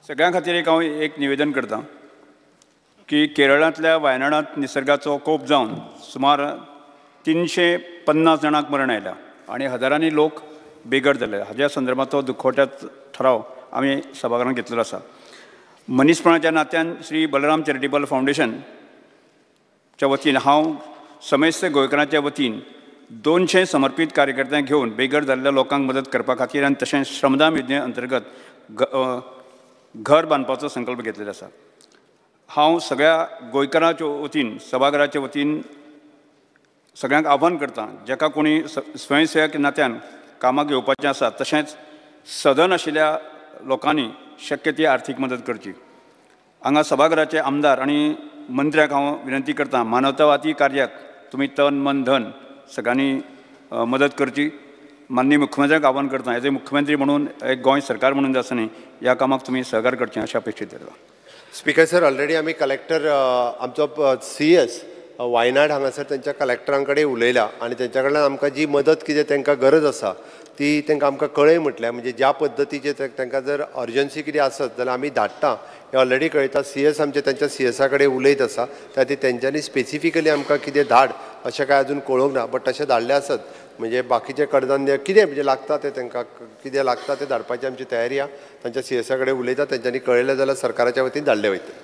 सगळ्यां खातीर एक हांव एक निवेदन करता की केरळांतल्या वायनाडांत निसर्गाचो कोप जावन सुमार 350 जाणांक मरण आयल्या आनी हजारांनी लोक बेघर जाले. हाज्या संदर्भांतलो दुखवट्यात ठराव आमी सभाघरांत घेतलेलो आसा. मनीसपणाच्या नात्यान श्री बलराम चॅरिटेबल फावंडेशनच्या वतीन हांव समेस्त गोंयकारांच्या वतीन 200 समर्पीत कार्यकर्त्यांक घेवन बेघर जाल्ल्या लोकांक मदत करपा खातीर आनी तशेंच श्रमदान योजने अंतर्गत घर बांदपाचो संकल्प घेतलेलो आसा. हांव सगळ्या गोंयकारांच्या वतीन, सभाघराच्या वतीन सगळ्यांक आव्हान करता, जाका कोणी स्वयंसेवक नात्यान कामाक येवपाचें आसा तशेंच सदन आशिल्ल्या लोकांनी शक्य ती आर्थीक मदत करची. हांगा सभाघराचे आमदार आनी मंत्र्याक हांव विनंती करता, मानवतावादी कार्याक तुमी तन मन धन सगळ्यांनी मदत करची. माननीय मुख्यमंत्र्यांक आव्हान करता, एज ए मुख्यमंत्री म्हणून, एक गोंय सरकार म्हणून जे आसा न्ही, ह्या कामाक तुमी सहकार करचें अशें अपेक्षीत करता. स्पीकर सर, ऑलरेडी आमी कलेक्टर आमचो CS Wayanad हांगासर तेंच्या कलेक्टरां कडेन उलयला आनी तेंच्या कडल्यान आमकां जी मदत कितें तेंकां गरज आसा ती तेंकां आमकां कळय म्हटल्या. म्हणजे ज्या पद्दतीचे तेंकां जर अर्जन्सी कितें आसत जाल्यार आमी धाडटा हें ऑलरेडी कळयता. CS आमचे तेंच्या CSA कडेन उलयत आसा, त्या खातीर तेंच्यांनी स्पेसिफिकली आमकां कितें धाड अशें कांय अजून कळोवंक ना, बट तशें धाडलें आसत म्हणजे बाकीचें कडधान्य कितें म्हणजे लागता तें तेंकां कितें लागता तें धाडपाची आमची तयारी आसा. तांच्या CSA कडेन उलयता, तेंच्यांनी कळयलें जाल्यार सरकाराच्या वतीन धाडलें वयतलें.